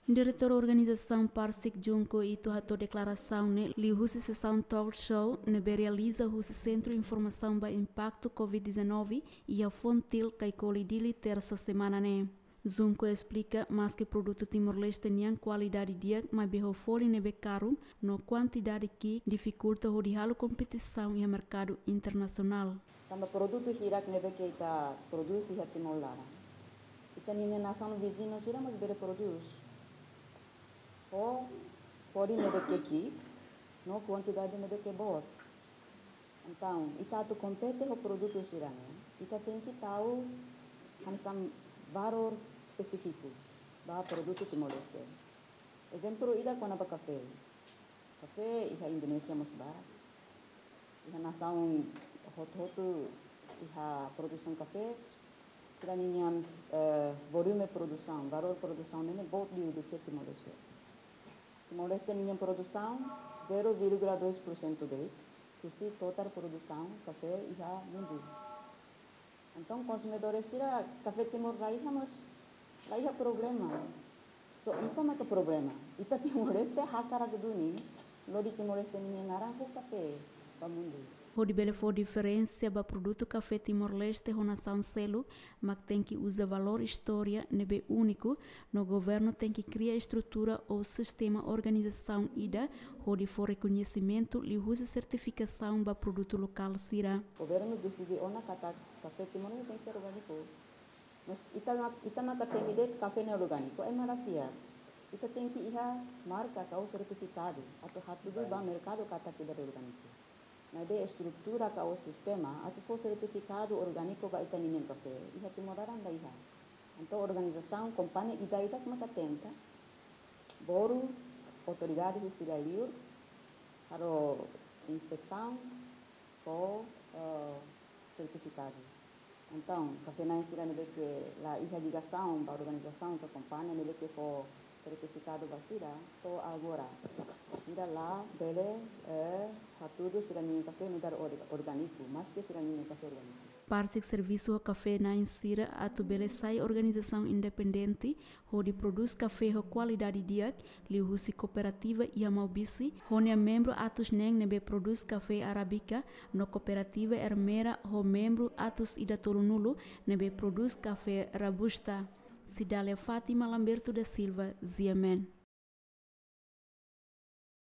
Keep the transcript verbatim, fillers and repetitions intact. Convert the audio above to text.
Diretór Organizasaun Parsik, Junko Ito, hato'o deklarasaun ne'e liuhusi sesaun talk show ne'ebé realiza husi Sentru Informasaun ba Impaktu COVID-19 iha Fontil, Caicoli, Dili, Tersa semana ne'e. Junko esplika, maske produtu Timor-Leste nian kualidade di'ak, maibé ho folin ne'ebé karun no kuantidade ki'ik difikulta hodi halo kompetisaun iha merkadu internasionál. Tanba produtu hirak ne'ebé ke ita prodús iha Timor laran, ita-nia nasaun viziñu sira mós bele prodús ho folin ne'ebé ke ki'ik no kuantidade ne'ebé ke boot. Entaun, ita atu kompete ho produtu sira-ne'e, ita tenke tau hanesan valór espesífiku ba produtu Timor-Leste. Ezemplu ida kona-ba kafé. Kafé iha Indonézia mós barak. Iha nasaun hotu-hotu iha produsaun kafé, sira-ninia, eh, volume produsaun, valór produsaun ne'e boot liu duké Timor-Leste. Timor-Leste ninia produsaun zero vírgula dois por cento de'it husi totál produsaun kafé iha mundu. Entaun, konsumidór sira, kafé Timor la iha mós la iha problema. Só ita maka problema. Ita Timor-Leste hakarak duni lori Timor-Leste ninia naran ho kafé ba mundu. Hodi bele fó diferensa ba produtu kafé Timor-Leste ho nasaun seluk, mak tenke uza valór istória ne'ebé úniku, no governu tenke kria estrutura ou sistema organizasaun ida hodi fó rekoñesimentu liuhusi sertifikasaun ba produtu lokál sira. Governu deside ona katak kafé Timor ne'e tenke ser orgániku. Mas ita mak, ita maka temi de'it kafé ne'e orgániku, ema la fiar. Ita tenke iha marka ka ou sertifikadu atu hatudu ba merkadu katak ida orgániku. Maibé estrutura ka ou sistema atu fó sertifikadu orgániku ba ita-ninia kafé iha Timor laran la iha. Entaun organizasaun, kompañia ida-idak maka tenta, boru autoridade husi rai-liur halo inspesaun ho, eh, sertifikadu. Entaun, kafé-na'in sira ne'ebé ke la iha ligasaun ba organizasaun ka kompañia ne'ebé ke fó sertifikadu ba sira, to'o agora sira la bele, eh, hatudu sira-ninia kafé nu'udar or-, orgániku, maske sira-ninia kafé orgániku. Parsik servisu ho kafé-na'in sira atu bele sai organizasaun independente hodi prodús kafé ho kualidade di'ak, liuhusi kooperativa iha Maubisse ho nia membru atus neen ne'ebé prodús kafé arábika, no kooperativa Ermera ho membru atus ida tolunulu ne'ebé prodús kafé robusta. Cidália Fátima, Lamberto da Silva, G M N.